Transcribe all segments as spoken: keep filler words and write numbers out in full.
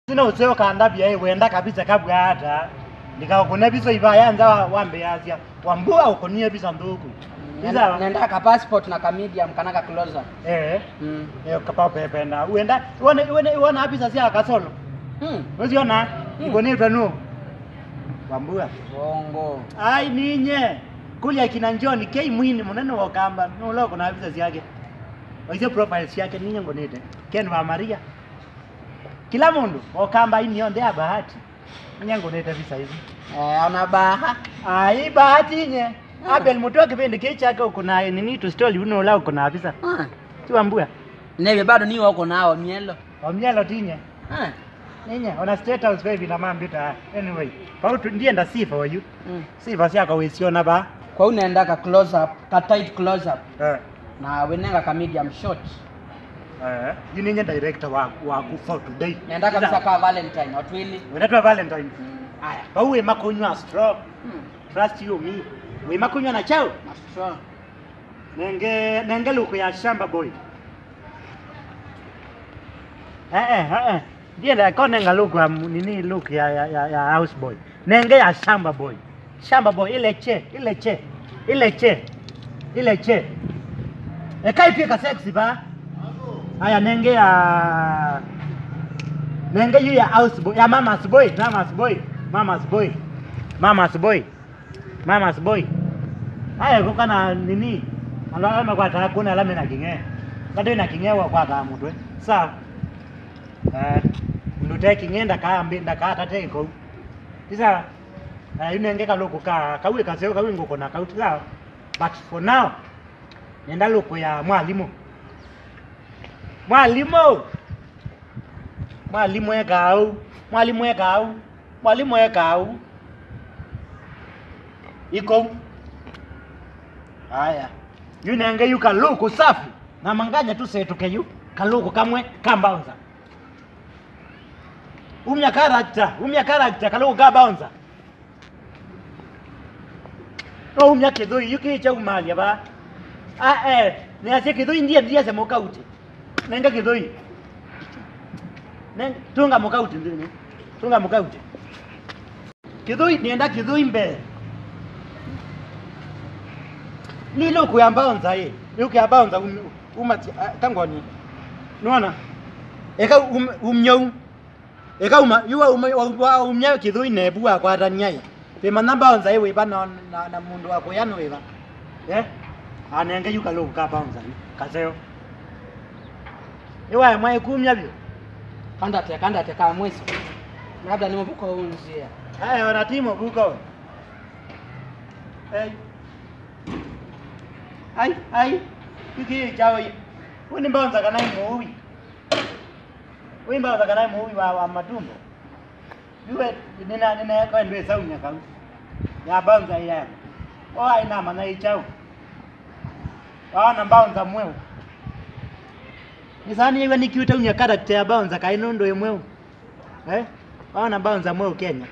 Sina useo kandavya ĩ, wenda kabisa kabwa ata. Ndikaũkũne visa ivaya nza wa, wambĩasya. Wambua ũkũnie visa nthũku. Visa. Nenda, nenda ka passport na ka medium kana ka close up. Eh. Mm. Eh, kapa pependa. Wenda, wone, wone, wona visa sya kasolo. Mm. Usiona? Mm. Ikonetwe nu. Wambua. Bongo. Ai ninye. Kulia kina John K Mwini, mũnene wa Ũkamba. Nũla ũkũna visa syake. Waisye profile syake ninye ngonete. Ken wa Maria. Kila mũndũ, Ũkamba ini yonthe ya Bahati. Nye ngũnĩte visa isu. Eh, ona baha. Ai, Bahati nye. Ah. Abel Mutua kĩvĩndĩ kĩĩ kyake ũkũna nini tu story uno ũla ũkũna visa. Ah. Tiwa mbua. Neve bado ni wako nao mielo. Wa mielo tinye. Ah. Ninye, ona State House baby na mambita. Anyway, pautu ndienda sifa oyu. Mm. Sifa syakwa wĩsiona va. Kwa unenda ka close up, ka tight close up. Eh. Na wenenga ka medium shot. Eh, yu ninye director wa, waku for today. Nenda kabisa ka Valentine, watu wili. Wenda twa Valentine. Mm. Aya, vau wĩ makunywa straw. Mm. Trust you me. Wĩ makunywa na chao. Na straw. Nenge, nenge luku ya shamba boy. Eh, eh, eh, eh. Ndienda kone nga luku ya mu-, nini luku ya, ya, ya, ya house boy. Nenge ya shamba boy. Shamba boy, ileche, ileche, ileche, ileche. Eka itwika sexy ba. Aya nenge ya, nenge yu ya house boy, ya mama's boy, mama's boy, mama's boy, mama's boy, mama's boy. Aya kuka na nini? Ala ala makwata kuna ala mena kinge. Kado na kinge wa kwa mutwe. Sawa. Eh, ndute kinge ndaka ambi ndaka tate iko. Isa. Eh, yu nenge kalũkũ ka, kau ĩ kaseo, kau ĩ ngũkũ na kau ti sawa. But for now, nenda lũkũ ya mwalimũ. Mwalimũ! Mwalimũ ekaa ũu. Mwalimũ ekaa ũu. Mwalimũ ekaa ũu. Iko. Aya. Yu nenge yu kalũkũ safi. Na manganya tũsetũke yu. Kalũkũ kamwe ka bouncer. Umya character, umya character, kalũkũ ka bouncer. No umya kĩthũi, yu kĩĩ kyaumalya va. Ah, eh, nĩasya kĩthũi ndiye, ndiye se mũkauti. Nenga kĩthũi. Neng-, tunga mũkauti nthĩnĩ. Tunga mũkauti. Kĩthũi, nĩenda kĩthũi mbee. Nĩ lũkũ ya bouncer ĩ. Lũkũ ya bouncer um-, uma ti-, ah, kangoni. Nũona? Eka um-, umya u. Eka uma, yu wa uma, wa, wa umya kĩthũi nevu wakwatany'a ĩ. Vĩmanya bouncer ĩ wĩva na, na, na mũndũ wa kũya nĩ wĩva. Eh? Anenge yu kalũkũ ka bouncer yu. Kaseo. Ĩwae mwaĩ kumya vyũ. Kandate, kandate ka mwiso. Labda ni mũvuko unzia. Aya, ona ti mũvuko. Hey. Ai, ai. Kiki chao hii. Huu ni bouncer kana hii muui. Huu ni bouncer kana hii muui wa, wa matumbo. Yue, nina, nina, kwa ndwe saunya kau. Ya bouncer ya. O, ai na mana ichao. Waona bouncer mweu. Nĩsaa nĩw'a nĩkiũte umya character ya bouncer kaĩ nũndũ ĩ mweu. Eh? Waona bouncer mweu Kenya.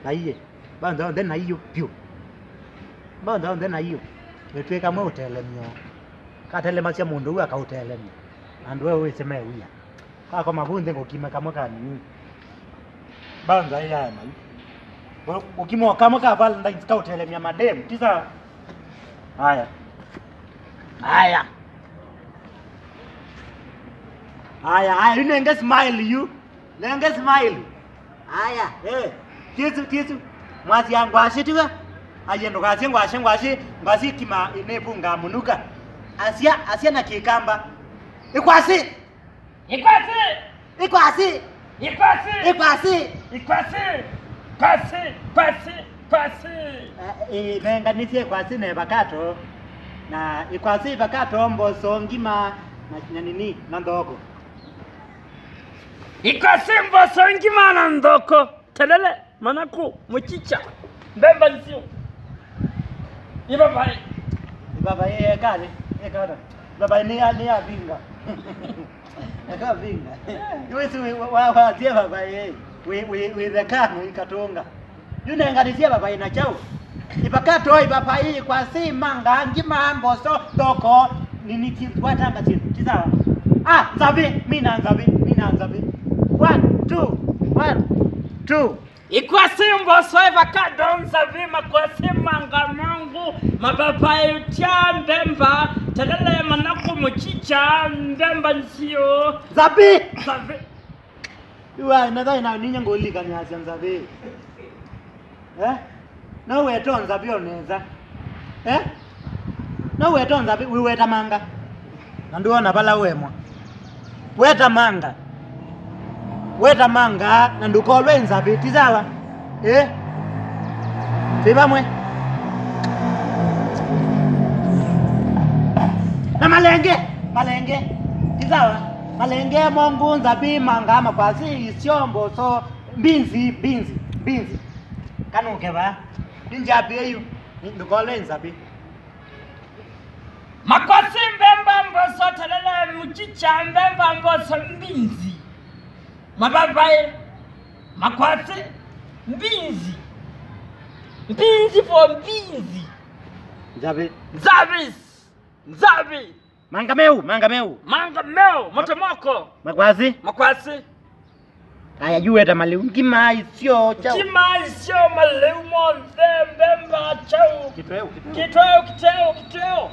Na iye. Bouncer onthe na iyo vyũ. Bouncer onthe na iyo. Nĩtwĩka mwe ũtelemyo. Katelemasya mũndũ ũu akaũtelemya. Andũ eũ wĩsĩ me wia. Kakoma vu nthĩ ngũkime kamwe ka nini. Bouncer ĩyae mai. Ngũkime o kamwe ka Valentine's kaũtelemya madem. Ti sawa? Aya. Aya. Aya, aya, yu nenge smile yu. Nenge smile. Aya, eh. Tisu, tisu. Mwasya ngwasĩ tiwe. Aye ndũkasye ngwasĩ, ngwasĩ, ngwasĩ kima nĩvungaa mũnuka. Asya, asya na kĩkamba. Ĩkwasĩ. Ikwasi! Ikwasi! Ikwasi! Ikwasi! Ikwasi! Kwasi! Kwasi! Kwasi! Eh, eh, nenganisye ikwasi na ivakato. Na ikwasi, ivakato, mboso, ngima, na, na nini, na nthoko. Ikwasi, mboso, ngima, na nthoko. Telele, manaku, muchicha, mbemba nzio. Ibabai. Ibabai ekale, ekata. Ibabai ni ya, ni ya vinga. Eka vinga. Iwe si wa, wa, wa, sie babai. We, we, we the kano ikatonga. Yu nenganisye babai na chao. Ipakato ibabai kwa si manga, ngima, mboso, thoko, nini ki, watanga si, ti sawa. Ah, nzabi, mina nzabi, mina nzabi. One, two. two. Ikwasi, mboso, avocado, nzavi, makwasi, manga, mangũ, mapapai, tya, mbemba, telele, manaku, mũchicha, mbemba nzio. Nzavi! Nzavi. Iwa, na thai na ninya ngũlilikanyasya nzavi. Eh? No weta nzavi onetha. Eh? No weta nzavi, wĩweta manga. Na ndũona vala ũemwa. Weta manga. Weta manga, na ndũkolwe nzavi, ti sawa? Eh? Twĩ vamwe. Na malenge, malenge. Ti sawa? Malenge, mongũ, nzavi, manga, makwasi, isyo, mboso, mbinzi, mbinzi, mbinzi. Kanũke vaa. Nĩ nzyapi ĩyu? Nĩ ndũkolwe nzavi. Makwasi, mbemba, mboso, telele, mũchicha, mbemba, mboso, mbinzi. Mavavai, makwasi, mbinzi. Mbinzi for mbinzi. Nzavi. Nzavi. Nzavi. Manga meũ, manga meũ. Manga meũ, motomoko. Makwasi. Makwasi. Aya, yu weta malĩu. Ngima, isyo, kyaũ. Ngima, isyo, malĩu monthe, mbemba, kyaũ. Kĩtweũ, kĩtweũ. Kĩtweũ, kĩtweũ, kĩtweũ.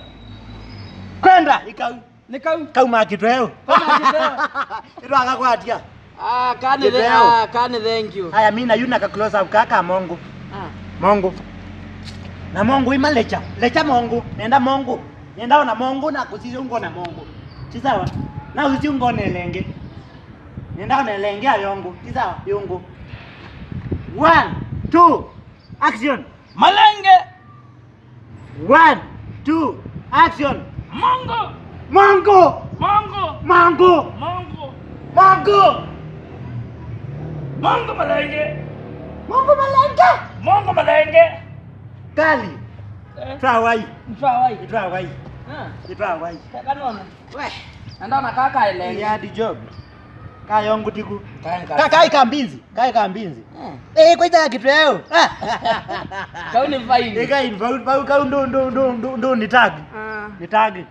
Kwenda, ikau. Nĩ kau. Kauma kĩtweũ. Kauma kĩtweũ. Ĩtwakakwatya. Ah, kani the-, kĩtweũ. Ah, kani thank you. Aya, mina yu na ka close up ka, ka mongũ. Ah. Mongũ. Na mongũ ima lecha. Lecha mongũ. Nenda mongũ. Nenda ona mongũ na kũsisya ngona mongũ. Ti sawa? Na ũsisya ngona ĩlenge. Nenda ona ĩlenge ya yongũ. Ti sawa? Yongũ. One, two, action. Malenge. One, two, action. Mongũ. Mongũ. Mongũ. Mongũ. Mongũ. Mongũ. Mongũ malenge. Mongũ malenge. Mongũ malenge. Kali. Eh. Twawai. Twawai. Twawai. Ah. Twawai. Kanona. We, na ndona kaka elenge. Ya di job. Ka yongũ tiku. Ka, ka, kai ka mbinzi, kai ka mbinzi. Eh. Eh, kwaita kĩtweũ. Kau nĩ fine. Eh, kai, vau, vau, kau ndo, ndo, ndo, ndo, ndo nĩ tag. Ah. Nĩ tag.